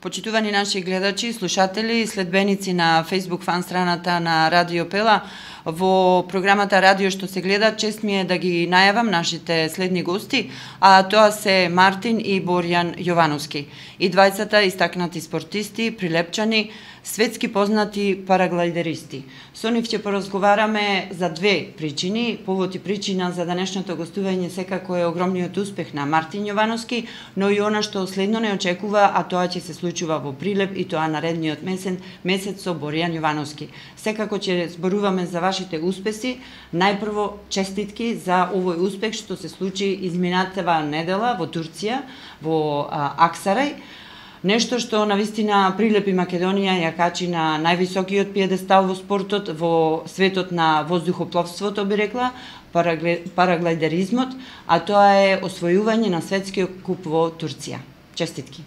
Почитувани наши гледачи, слушатели и следбеници на Facebook фан страната на Радио Пела, во програмата Радио што се гледа, чест ми е да ги најавам нашите следни гости, а тоа се Мартин и Боријан Јовановски. И двајцата истакнати спортисти, прилепчани, светски познати параглайдеристи. Со нив ќе поразговараме за две причини. Повод и причина за денешното гостување секако е огромниот успех на Мартин Јовановски, но и она што следно не очекува, а тоа ќе се случува во Прилеп и тоа наредниот месец со Боријан Јовановски. Секако ќе зборуваме за вашите успеси. Најпрво честитки за овој успех што се случи изминатава недела во Турција, во Аксарај. Нешто што навистина Прилеп и Македонија ја качи на највисокиот пиедестал во спортот, во светот на воздухопловството, би рекла, параглайдеризмот, а тоа е освојување на светскиот куп во Турција. Честитки.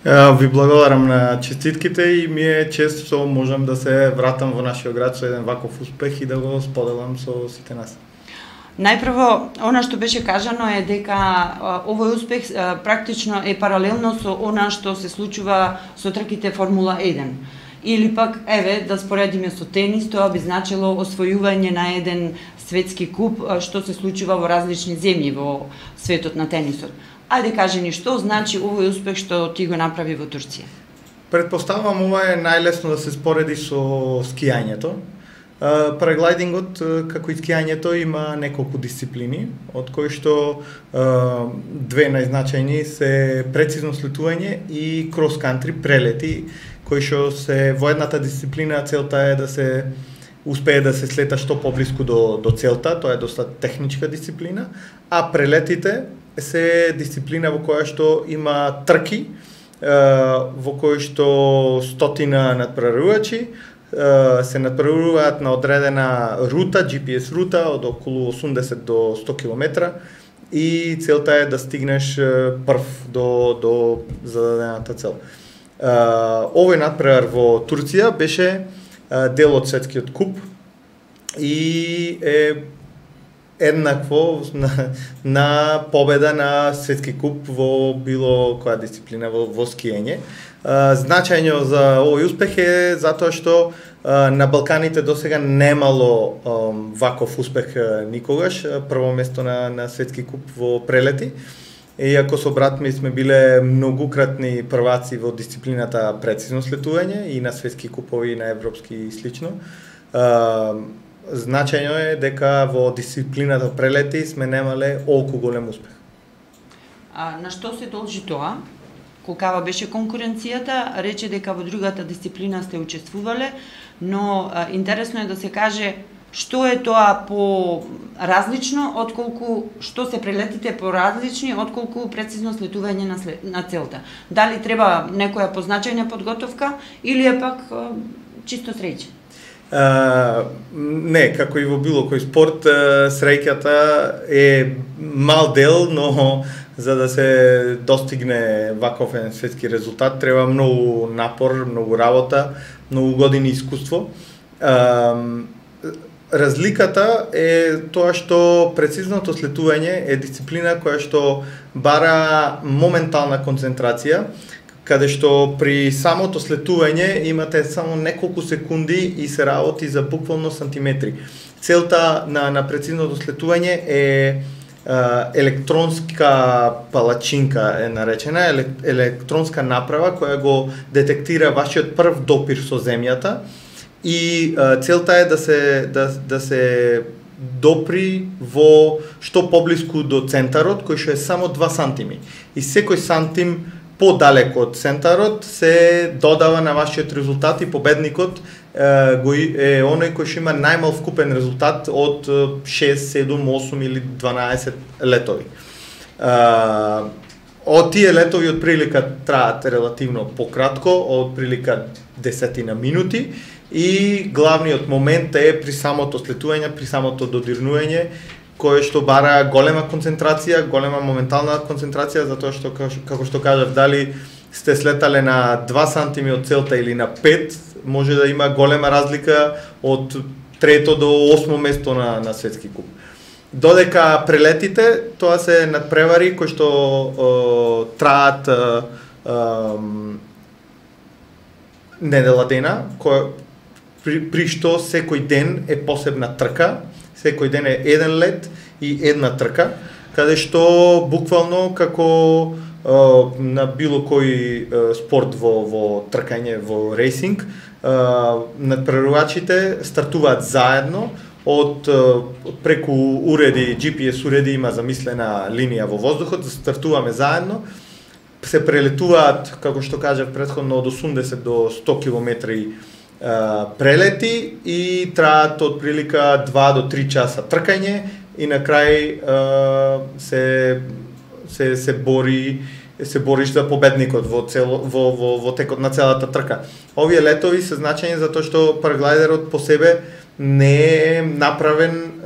Ви благодарам на честитките и ми е чест што можам да се вратам во нашиот град со еден ваков успех и да го споделам со сите нас. Најпрво, она што беше кажано е дека овој успех практично е паралелно со она што се случува со трките Формула 1. Или пак, еве, да споредиме со тенис, тоа би значило освојување на еден светски куп што се случува во различни земји во светот на тенисот. Ајде кажи ни што значи овој успех што ти го направи во Турција? Предпоставувам ова е најлесно да се спореди со скијањето. Параглайдингот, како и скијањето, има неколку дисциплини, од кои што две најзначајни се прецизно слетување и крос-кантри, прелети, кои што се во едната дисциплина целта е да се успее да се слета што поблиску до целта, тоа е доста техничка дисциплина, а прелетите се дисциплина во која што има трки, во кои што стотина надпреварувачи се надпреваруваат на одредена рута, GPS рута од околу 80 до 100 км и целта е да стигнеш прв до зададената цел. Овој надпревар во Турција беше дел од светскиот куп и е еднакво на победа на светски куп во било која дисциплина во скијање. Значајно за овој успех е затоа што на Балканите досега немало ваков успех никогаш. Прво место на светски куп во прелети. Иако со брат ми сме биле многукратни прваци во дисциплината прецизно слетување и на светски купови и на европски и слично. Значајно е дека во дисциплината прелети сме немале олку голем успех. На што се должи тоа? Колкава беше конкуренцијата? Рече дека во другата дисциплина сте учествувале, но интересно е да се каже што е тоа по различно отколку што се прелетите по различни отколку прецизно слетување на целта. Дали треба некоја позначајна подготовка или е пак чисто среќа? Не, како и во било кој спорт, среќата е мал дел, но за да се достигне ваков светски резултат треба многу напор, многу работа, многу години искуство. Разликата е тоа што прецизното слетување е дисциплина која што бара моментална концентрација, каде што при самото слетување имате само неколку секунди и се работи за буквално сантиметри. Целта на прецизното слетување е електронска палачинка е наречена, електронска направа која го детектира вашиот прв допир со земјата и целта е да се допри во што поблиску до центарот, кој што е само 2 сантими. И секој сантим подалеку од центарот се додава на вашиот резултат и победникот е оној кој што има најмал вкупен резултат од 6, 7, 8 или 12 летови. Од тие летови од прилика траат релативно пократко, од прилика 10 минути и главниот момент е при самото слетување, при самото додирнување, кое што бара голема концентрација, голема моментална концентрација, затоа што, како што кажав, дали сте слетале на 2 сантими од целта или на 5, може да има голема разлика од 3 до 8 место на светски куп. Додека прелетите, тоа се надпревари кои што траат недела дена, при што секој ден е посебна трка, секој ден е еден лет и една трка, каде што буквално како на било кој спорт во тркање, во рейсинг, надпреварувачите стартуваат заедно од преку уреди, GPS уреди, има замислена линија во воздухот, стартуваме заедно, се прелетуваат, како што кажав претходно, од 80 до 100 километри прелети и траат од прилика 2 до 3 часа тркање и на крај се бориш за победникот во текот на целата трка. Овие летови се значајни затоа што параглайдерот по себе не е направен,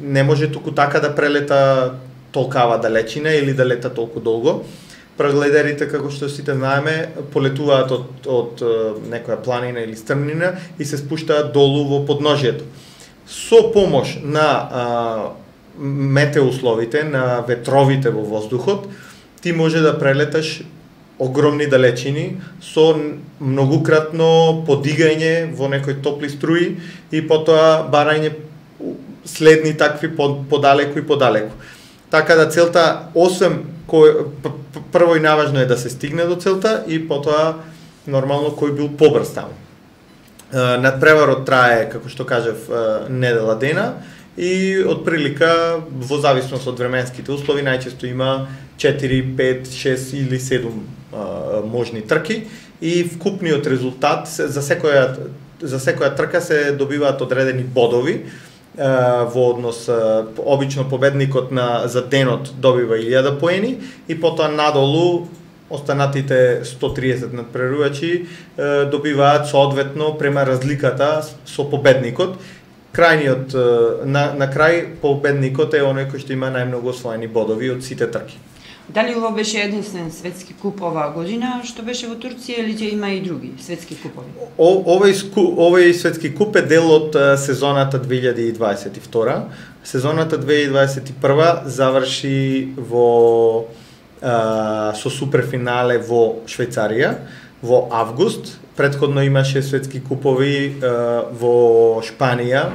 не може туку така да прелета толкава далечина или да лета толку долго. Параглайдерите, како што сите знаеме, полетуваат од некоја планина или стрмнина и се спуштаат долу во подножјето. Со помош на метеоусловите, на ветровите во воздухот, ти може да прелеташ огромни далечини со многукратно подигање во некои топли струи и потоа барање следни такви подалеку и подалеку. Така да целта, освен прво и наважно е да се стигне до целта и потоа нормално кој бил побрз таму. Надпреварот трае, како што кажав, недела дена и од прилика во зависност од временските услови најчесто има 4, 5, 6 или 7 можни трки и вкупниот резултат за секоја трка се добиваат одредени бодови во однос, обично победникот за денот добива 1000 поени и потоа надолу останатите 130 надпреварувачи добиваат соодветно према разликата со победникот. Крајниот на крај победникот е оној кој што има најмногу освоени бодови од сите трки. Дали ова беше единствен светски куп оваа година што беше во Турција или ќе има и други светски купови? Овој светски куп е дел од сезоната 2022. Сезоната 2021 заврши со суперфинале во Швајцарија во август. Претходно имаше светски купови во Шпанија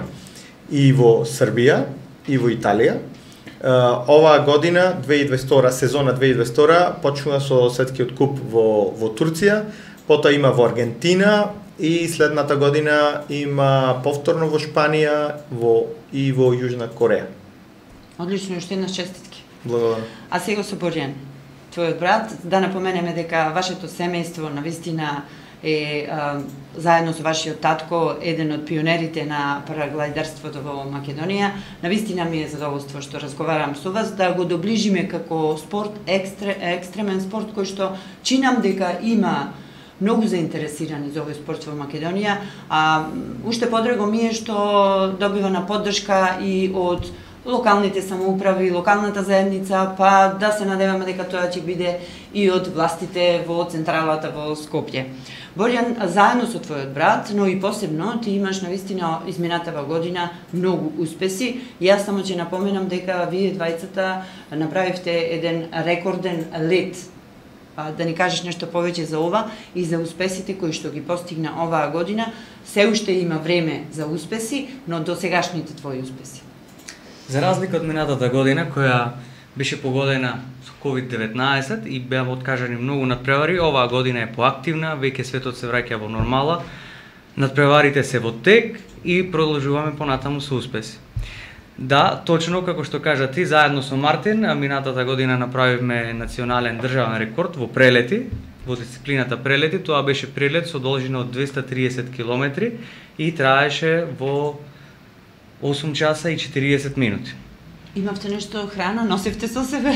и во Србија и во Италија. Оваа година, 2022, сезона 2022, почнува со светскиот куп во Турција, потоа има во Аргентина и следната година има повторно во Шпанија и во Јужна Кореја. Одлично, уште една честитки. Благодарам. А сега со Борјан, твојот брат, да напоменеме дека вашето семејство навистина е заедно со вашиот татко еден од пионерите на параглайдерството во Македонија. Навистина ми е задоволство што разговарам со вас, да го доближиме како спорт, екстремен спорт кој што чинам дека има многу заинтересирани за овој спорт во Македонија, а уште подраго ми е што добива на поддршка и од локалните самоуправи, локалната заедница, па да се надеваме дека тоа ќе биде и од властите во централата во Скопје. Борјан, заедно со твојот брат, но и посебно, ти имаш навистина изминатава година многу успеси. Јас само ќе напоменам дека вие двајцата направивте еден рекорден лет. Да ни кажеш нешто повеќе за ова и за успесите кои што ги постигна оваа година. Се уште има време за успеси, но до сегашните твои успеси. За разлика од минатата година, која беше погодена со COVID-19 и беа откажани многу надпревари, оваа година е поактивна, веќе светот се враќа во нормала, надпреварите се во тек и продолжуваме понатаму со успеси. Да, точно како што кажа ти, заедно со Мартин, минатата година направивме национален државен рекорд во прелети, во дисциплината прелети. Тоа беше прелет со должина од 230 км и траеше во 8 часа и 40 минути. Имавте нешто храна, носевте со себе?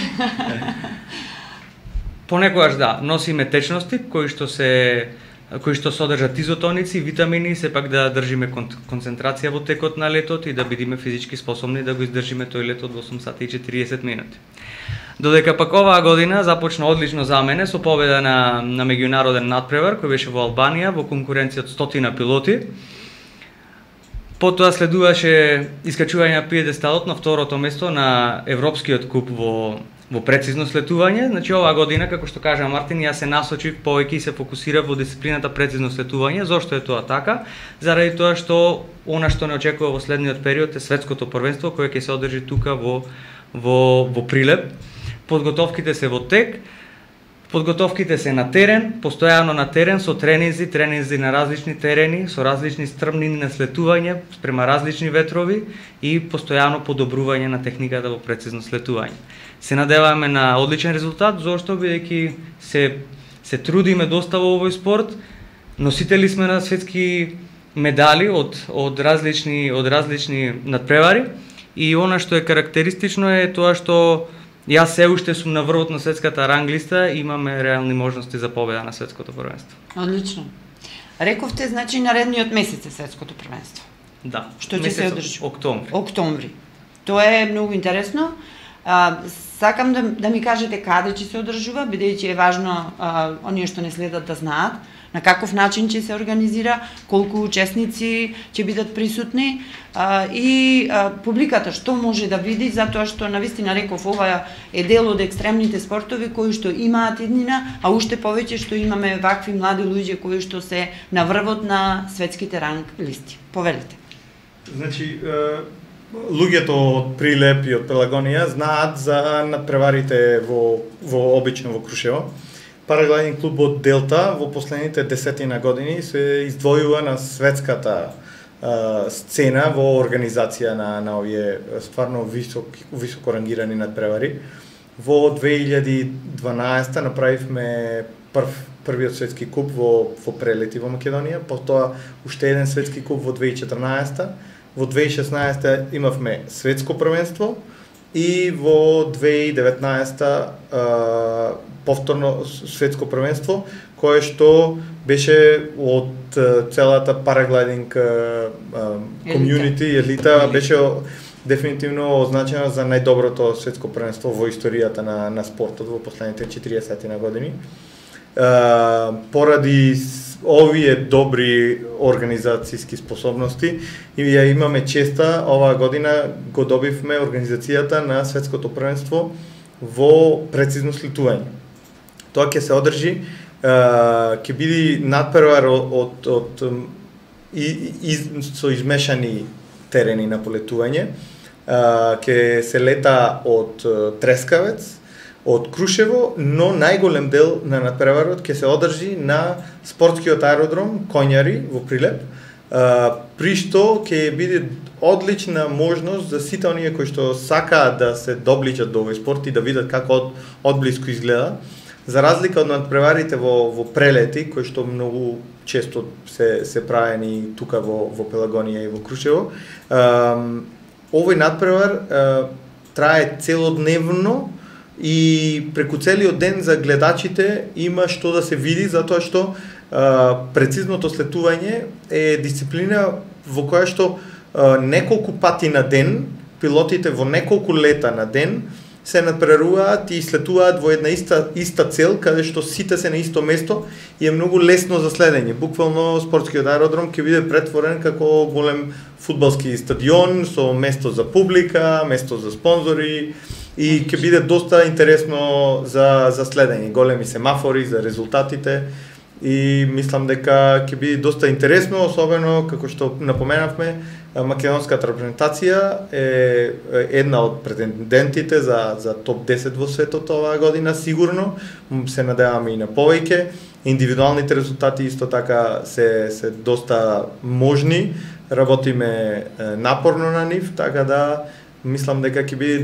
Понекогаш да, носиме течности кои што содржат изотоници, витамини, сепак да држиме концентрација во текот на летот и да бидеме физички способни да го издржиме тој лет од 8 сати и 40 минути. Додека пак оваа година започна одлично за мене со победа на меѓународен надпревар кој беше во Албанија во конкуренција од 100 пилоти. Потоа следуваше искачување на пиедесталот на второто место на Европскиот куп во во прецизно слетување. Значи оваа година, како што кажа Мартин, јас се насочив повеќе и се фокусирав во дисциплината прецизно слетување. Зошто е тоа така? Заради тоа што она што не очекува во следниот период е светското првенство кое ќе се одржи тука во Прилеп. Подготовките се во тек. Подготовките се на терен, постојано на терен со тренинзи на различни терени, со различни стрмнини на слетување, спрема различни ветрови и постојано подобрување на техниката во прецизно слетување. Се надеваме на одличен резултат, зашто бидејќи се трудиме доста во овој спорт, носители сме на светски медали од различни надпревари и она што е карактеристично е тоа што јас се уште сум на врвот на светската ранглиста и имаме реални можности за победа на светското првенство. Одлично. Рековте, значи, наредниот месец е светското првенство. Да. Што ќе се одржи? Октомври. Тоа е многу интересно. Сакам да ми кажете каде ќе се одржува, бидејќи е важно оние што не следат да знаат на каков начин ќе се организира, колку учесници ќе бидат присутни и публиката што може да види, затоа што навистина реков ова е дел од екстремните спортови кои што имаат иднина, а уште повеќе што имаме вакви млади луѓе кои што се на врвот на светските ранг листи. Повелите. Значи, луѓето од Прилеп и од Пелагонија знаат за надпреварите во обично во Крушево. Параглайдинг клубот Делта во последните 10 години се издвојува на светската сцена во организација на овие стварно високо рангирани надпревари. Во 2012 направивме првиот светски куп во Прелети во Македонија, потоа уште еден светски куп во 2014. Во 2016 имавме светско првенство и во 2019 повторно светско првенство, кое што беше од целата параглайдинг комјунити, елита, беше дефинитивно означено за најдоброто светско првенство во историјата на спортот во последните 40 години. Поради овие добри организацијски способности и ја имаме честа оваа година го добивме организацијата на светското првенство во прецизно слетување. Тоа ќе се одржи, ќе биде надпревар со измешани терени на полетување. Ќе се лета од Трескавец, од Крушево, но најголем дел на надпреварот ќе се одржи на спортскиот аеродром Коњари во Прилеп, при што ќе биде одлична можност за сите оние кои што сакаат да се доближат до овој спорт и да видат како одблиску изгледа. За разлика од надпреварите во Прелети, кои што многу често се правени тука во Пелагонија и во Крушево, овој надпревар трае целодневно и преку целиот ден за гледачите има што да се види, затоа што прецизното слетување е дисциплина во која што неколку пати на ден, пилотите во неколку лета на ден се надпреваруваат и слетуваат во една иста цел, каде што сите се на исто место и е многу лесно за следење. Буквално спортскиот аеродром ќе биде претворен како голем фудбалски стадион со место за публика, место за спонзори и ќе биде доста интересно за следење. Големи семафори за резултатите и мислам дека ќе биде доста интересно, особено како што напоменавме, македонската репрезентација е една од претендентите за топ 10 во светот оваа година, сигурно. Се надеваме и на повеќе. Индивидуалните резултати исто така се доста можни. Работиме напорно на нив, така да мислам дека ќе биде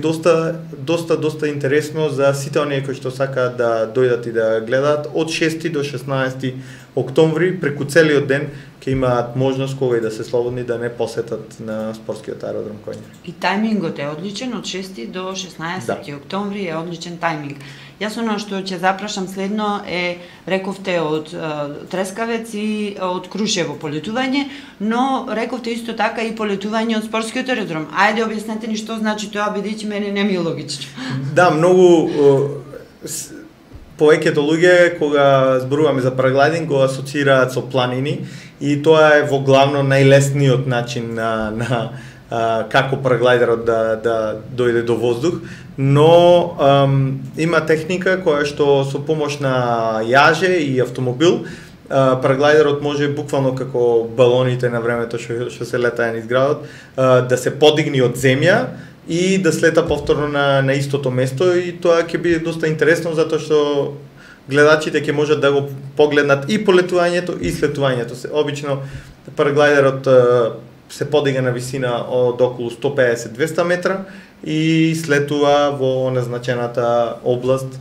доста интересно за сите оние кои што сакаат да дојдат и да гледаат од 6 до 16 октомври преку целиот ден ќе имаат можност кога и да се слободни да не посетат на спортскиот аеродром Коњари. И тајмингот е одличен од 6 до 16 октомври е одличен тајминг. Јас оно што ќе запрашам следно е, рековте од Трескавец и од Крушево полетување, но рековте исто така и полетување од спортскиот аеродром. Ајде објаснете ни што значи тоа, бидејќи мене не ми е логично. Да, многу повеќето луѓе кога зборуваме за параглайдинг го асоцираат со планини и тоа е во главно најлесниот начин на како параглайдерот да дојде до воздух, но има техника која што со помош на јаже и автомобил, параглайдерот може буквално како балоните на времето што се летаја низ градот, да се подигни од земја и да слета повторно на истото место, и тоа ќе биде доста интересно затоа што гледачите ќе можат да го погледнат и полетувањето и слетувањето. Обично параглайдерот се подига на висина од околу 150-200 метра и слетува во назначената област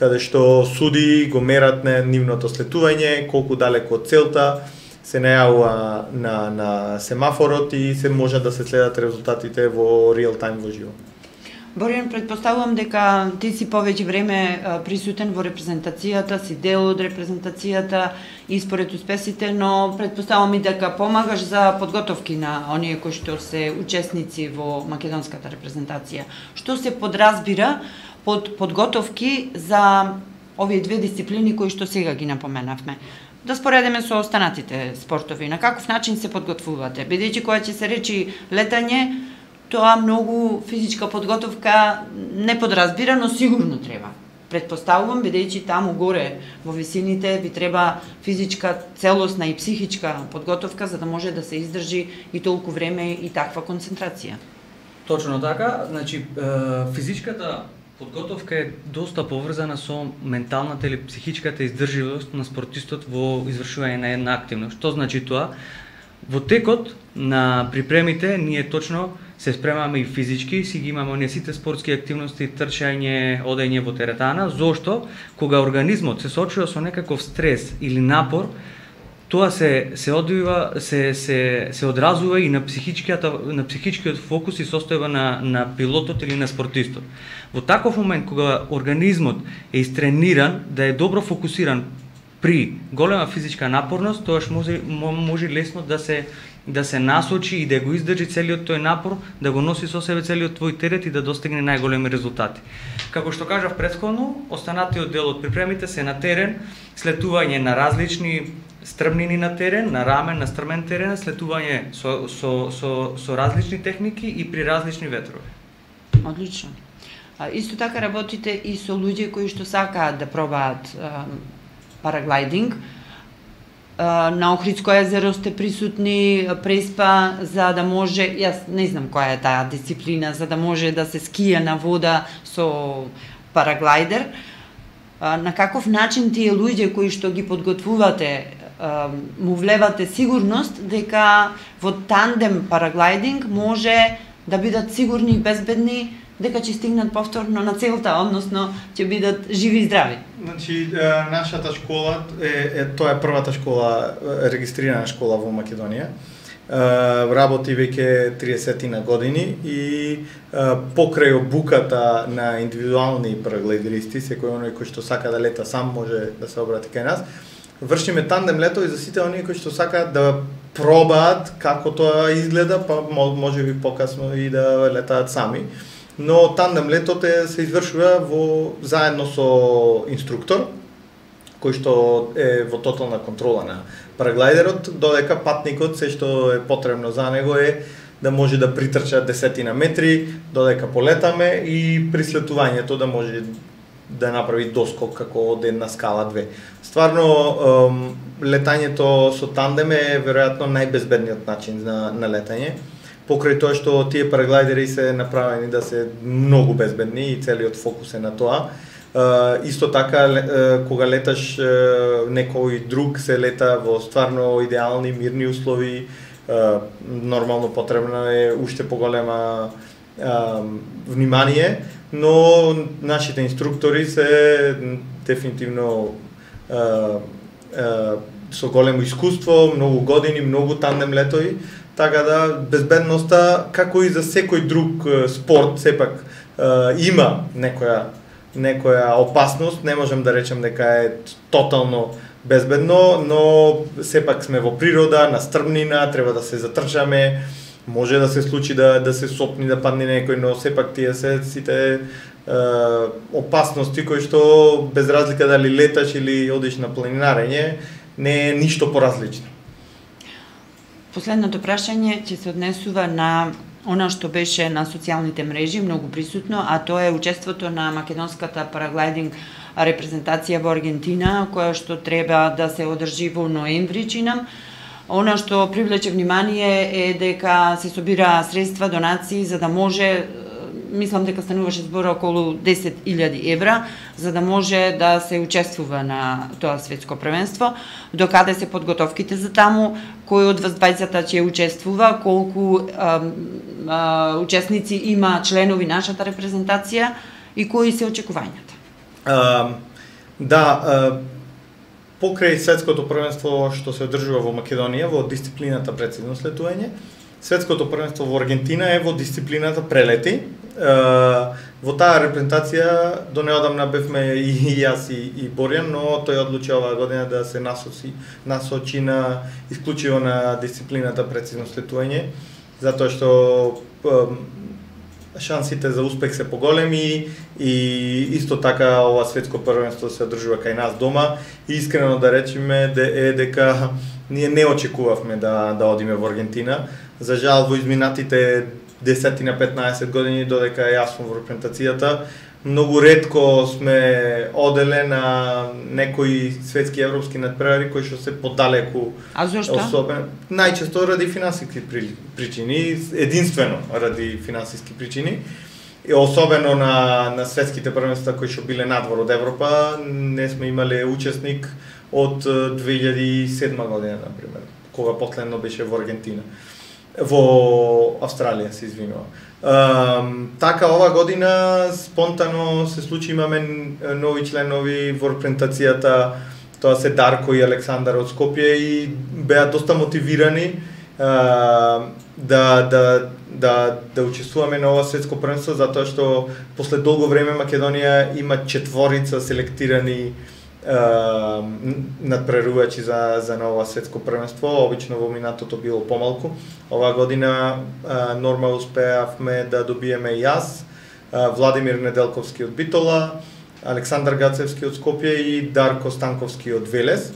каде што суди го мерат на нивното слетување, колку далеко од целта, се најавува на семафорот и се може да се следат резултатите во реал тајм во живо. Боријан, предпоставувам дека ти си повеќе време присутен во репрезентацијата, си дел од репрезентацијата и според успесите, но предпоставувам и дека помагаш за подготовки на оние кои што се учесници во македонската репрезентација. Што се подразбира под подготовки за овие две дисциплини кои што сега ги напоменавме? Да споредиме со останатите спортови, на каков начин се подготвувате? Бидејќи кога ќе се речи летање, тоа многу физичка подготовка не подразбира, но сигурно треба. Предпоставувам, бидејќи таму горе во висините ви треба физичка, целосна и психичка подготовка за да може да се издржи и толку време и таква концентрација. Точно така, значи физичката подготовка е доста поврзана со менталната или психичката издржливост на спортистот во извршување на една активност. Што значи тоа? Во текот на припремите ние точно се спремаме и физички, си ги имаме оние сите спортски активности, трчање, одење во теретана, зошто кога организмот се соочува со некаков стрес или напор, тоа се одразува и на психичкиот фокус и состојба на пилотот или на спортистот. Во таков момент кога организмот е истрениран, да е добро фокусиран при голема физичка напорност, тоаш може лесно да се насочи и да го издржи целиот тој напор, да го носи со себе целиот твој терет и да достигне најголеми резултати. Како што кажав претходно, останатиот дел од припремите се на терен, слетување на различни стрмнини на терен, на рамен, на стрмен терен, слетување со различни техники и при различни ветрови. Одлично. Исто така работите и со луѓе кои што сакаат да пробаат параглайдинг. На Охридско езеро сте присутни, Преспа, за да може, јас не знам која е таа дисциплина, за да може да се скија на вода со параглайдер. На каков начин тие луѓе кои што ги подготвувате му влевате сигурност дека во тандем параглайдинг може да бидат сигурни и безбедни дека ќе стигнат повторно на целта, односно ќе бидат живи и здрави. Значи, нашата школа тоа е првата школа, регистрирана школа во Македонија. Работи веќе 30 години и покрај обуката на индивидуални параглайдеристи, секој оној кој што сака да лета сам може да се обрати кај нас. Вршиме тандем летови за сите оние кои што сакаат да пробаат како тоа изгледа, па може би покасно и да летаат сами. Но тандем летот се извршува заедно со инструктор, кој што е во тотална контрола на параглайдерот, додека патникот се што е потребно за него е да може да притрча 10 метри, додека полетаме и при слетувањето да може да направи доскок како од една скала 2. Стварно, летањето со тандем е веројатно најбезбедниот начин на летање. Покрај тоа што тие параглайдери се направени да се многу безбедни и целиот фокус е на тоа. Исто така, кога леташ некој друг, се лета во стварно идеални, мирни услови, нормално потребно е уште поголема внимание, но нашите инструктори се дефинитивно со големо искуство, многу години, многу тандем летови, така да безбедноста, како и за секој друг спорт, сепак има некоја опасност, не можем да речем дека е тотално безбедно, но сепак сме во природа, на стрмнина, треба да се затрчаме, може да се случи да се сопни, да падне некој, но сепак тие се сите опасности кои што без разлика дали леташ или одиш на планинарење, не е ништо поразлично. Последното прашање ќе се однесува на она што беше на социјалните мрежи многу присутно, а тоа е учеството на македонската параглайдинг репрезентација во Аргентина, која што треба да се одржи во ноември, чинам. Она што привлече внимание е дека се собира средства, донации, за да може, мислам дека стануваше збор околу 10.000 евра, за да може да се учествува на тоа светско првенство. Докаде се подготовките за таму, кој од вас двајцата ќе учествува, колку учесници има членови нашата репрезентација и кои се очекувањата? Покрај светското првенство што се одржува во Македонија во дисциплината прецизно слетување, светското првенство во Аргентина е во дисциплината прелети. Во таа репрезентација до неодамна бевме и јас и Борјан, но тој одлучи оваа година да се насочи на исклучиво на дисциплината прецизно слетување, затоа што шансите за успех се поголеми и исто така ова светско првенство се одржува кај нас дома и искрено да речеме дека ние не очекувавме да одиме во Аргентина. За жал во изминатите 10-15 години додека јас сум во репрезентацијата, многу ретко сме оделе на некои светски европски надпревари кои што се подалеку. А зошто? Најчесто ради финансиски причини, единствено ради финансиски причини. И особено на светските првенства кои што биле надвор од Европа, не сме имале учесник од 2007 година, например, кога последно беше во Аргентина. Во Австралија, се извинувам. Така, ова година спонтано се случи, имаме нови членови во репрезентацијата, тоа се Дарко и Александар од Скопје и беа доста мотивирани да учествуваме на ова светско првенство, затоа што после долго време Македонија има 4 селектирани надпреварувачи за ново светско првенство. Обично во минатото било помалку. Оваа година нормално успеавме да добиеме јас, Владимир Неделковски од Битола, Александар Гацевски од Скопје и Дарко Станковски од Велес.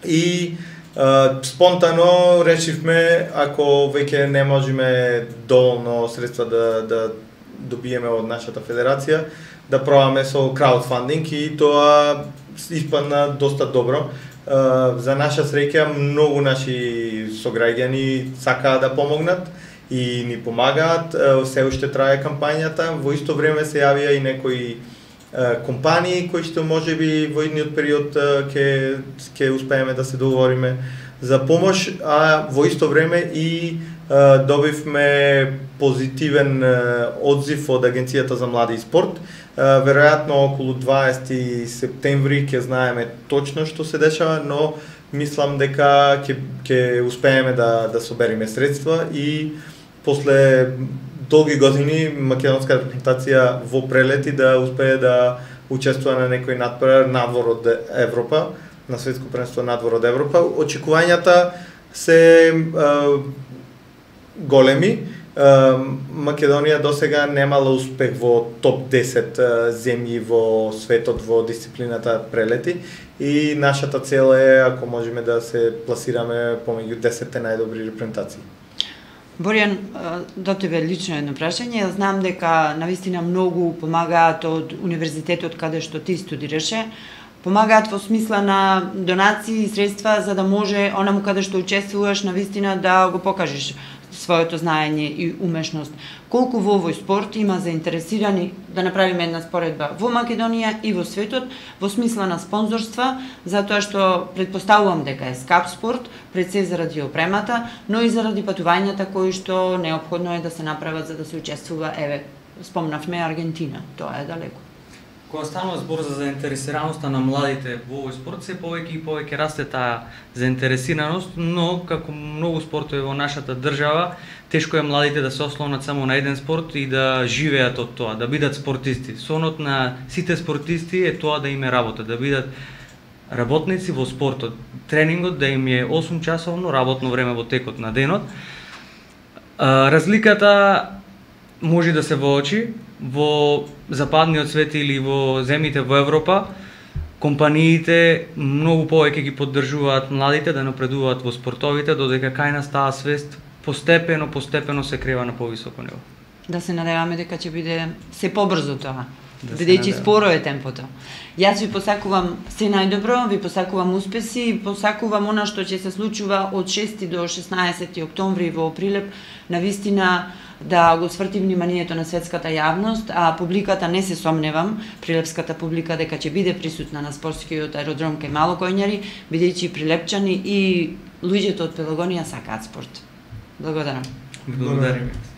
И спонтано решивме, ако веќе не можеме доволно средства да добиеме од нашата федерација, да пробаме со краудфандинг и тоа испадна доста добро. За наша среќа многу наши сограѓани сакаат да помогнат и ни помагаат. Се уште трае кампањата, во исто време се јавија и некои компании кои што можеби во идниот период ќе успееме да се договориме за помош, а во исто време и добивме позитивен одзив од Агенцијата за млади и спорт. Веројатно околу 20 септември ќе знаеме точно што се дешава, но мислам дека ќе успееме да собериме средства и после долги години македонска репрезентација во прелети да успее да учествува на некој надпревар надвор од Европа, на светско првенство надвор од Европа. Очекувањата се големи. Македонија досега немала успех во топ 10 земји во светот во дисциплината прелети и нашата цел е, ако можеме, да се пласираме помеѓу 10 најдобри репрезентации. Борјан, до тебе лично едно прашање. Знам дека навистина многу помагаат од универзитетот каде што ти студираше. Помагаат во смисла на донации и средства за да може онаму каде што учествуваш навистина да го покажеш своето знаење и умешност. Колку во овој спорт има заинтересирани, да направиме една споредба, во Македонија и во светот, во смисла на спонзорства, затоа што предпоставувам дека е скап спорт, пред се заради опремата, но и заради патувањата кои што неопходно е да се направат за да се учествува, спомнавме Аргентина, тоа е далеко. Кога станува збор за заинтересираноста на младите во овој спорт, се повеќе и повеќе расте таа заинтересираност, но како многу спортови во нашата држава, тешко е младите да се ослонат само на еден спорт и да живеат од тоа, да бидат спортисти. Сонот на сите спортисти е тоа да име работа, да бидат работници во спортот. Тренингот да им е 8 часовно работно време во текот на денот. Разликата може да се воочи во западниот свет или во земјите во Европа. Компаниите многу повеќе ги поддржуваат младите да напредуваат во спортовите, додека кај нас таа свест постепено се крива на повисоко ниво. Да се надеваме дека ќе биде се побрзо тоа. Да Бидејќи споро е темпото. Јас ви посакувам се најдобро, ви посакувам успеси и посакувам она што ќе се случува од 6 до 16 октомври во Прилеп, навистина да го сврти вниманието на светската јавност, а публиката не се сомневам, прилепската публика дека ќе биде присутна на спортскиот аеродром кај Малокојњари, бидејќи прилепчани и луѓето од Пелагонија сакаат спорт. Благодарам. Благодарам.